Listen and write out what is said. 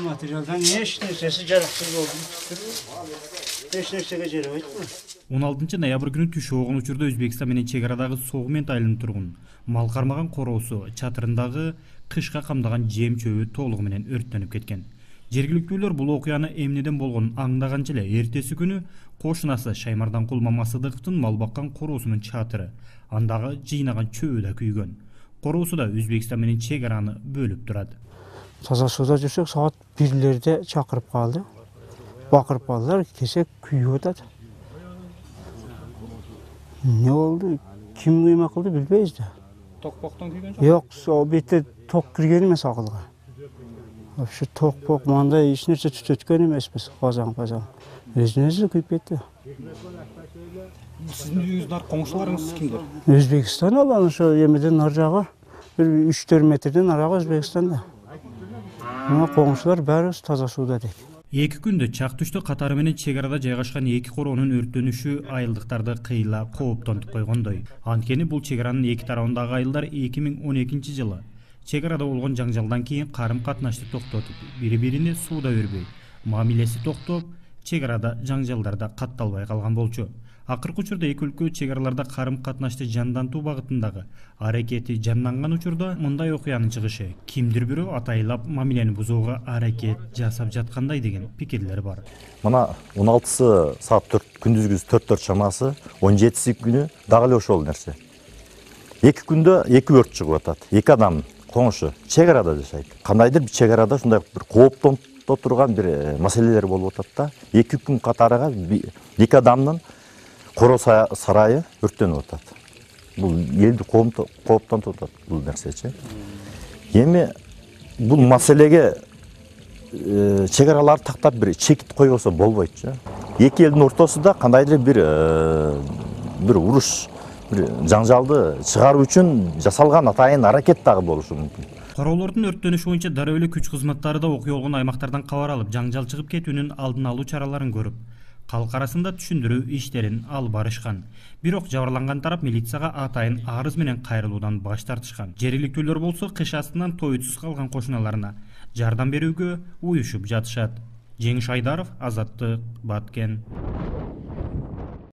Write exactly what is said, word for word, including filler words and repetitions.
материалдан эч нерсеси жараксыз болду. Эч нерсеге жарабайт бу. он алтынчы ноябрь күнү түш огон учурда Өзбекстан менен чек арадагы Согмент айылынын тургун мал кармаган короосу чатырындагы кышка камдаган жем чөбү толугу менен өрттөнүп кеткен. Жергиликтүүлөр бул окуяны эмнеден болгонун аңдаганча эле эртеси күнү кошунасы Шаймарданкул Мамасыдыктын мал баккан короосунун чатыры, андагы жыйнаган чөбү да күйгөн. Короосу да Өзбекстан менен чек араны бөлүп турат. Таза сууда жүрсөк саат бирлерде чакырып калды. Бакырып калдылар, кесе күйүп атат. Не болду? Ким кыйма кылды билбейбиз да. Токпоктон күйгөн жок? Жок, сол бетте ток кирген эмес акылга. Вообще токпок мындай эч нерсе түтөткөн эмеспиз, казан-казан. Өзүнө-өзү күйүп кетти. Сиздин үйүңүздүн ар коңшуларыңыз кимдер? Өзбекстан алан ошо эмеден ар жагы бир үч төрт метрден арагы Өзбекстанда. Мына коңшулар баарыбыз таза сууда дейт. Эки күндө чак түштө катары менен чек арада жайгашкан эки короонун өрттөнүшү айылдыктарды кыйла кооптонтуп койгондой. Анткени бул чек аранын эки тарабындагы айылдар эки миң он экинчи жылы чек арада болгон жаңжалдан кийин карым-катнашты токтотуп, бири-бирине сууда өрбөй, мамилеси токтоп, чек арада жаңжалдар да катталбай калган болчу. Акыркы учурда эки өлкө чек араларда карым-катнашты жандантуу багытындагы аракети жанданган учурда мындай окуянын чыгышы кимдир бирөө атайлап мамилени бузууга аракет жасап жаткандай деген пикирлер бар. Мына он алтысы саат төрт күндүзгү төрт төрт чамасы, он жетиси күнү дагы эле ошол нерсе. Эки күндө эки өрт чыгып атат. Эки адам коңшу чек арада жашайт. Кандайдыр бир чек арада ушундай бир кооптонто турган бир маселелер болуп атат да. Эки күн катарыга эки адамдын коро сарайы өрттөнүп атат. Бул элди кооптонтуп атат бул нерсечи. Эми бул маселеге чек аралар тактап бир чекит койбосо болбойтчу. Эки элдин ортосунда кандайдыр бир бир уруш, бир жаңжалды чыгаруу үчүн жасалган атайын аракет дагы болушу мүмкүн. Короолордун өрттөнүшү боюнча дароо эле күч кызматтары да окуя болгон аймактардан кабар алып, жаңжал чыгып кетүүнүн алдын алуу чараларын көрүп, калк арасында түшүндүрүү иштерин алып барышкан. Бирок жабырланган тарап милицияга атайын арыз менен кайрылуудан баш тартышкан. Жергиликтүүлөр болсо кыш астынан тойтсуз калган кошуналарына жардам берүүгө уюшуп жатышат. Жеңиш Айдаров, Азаттык, Баткен.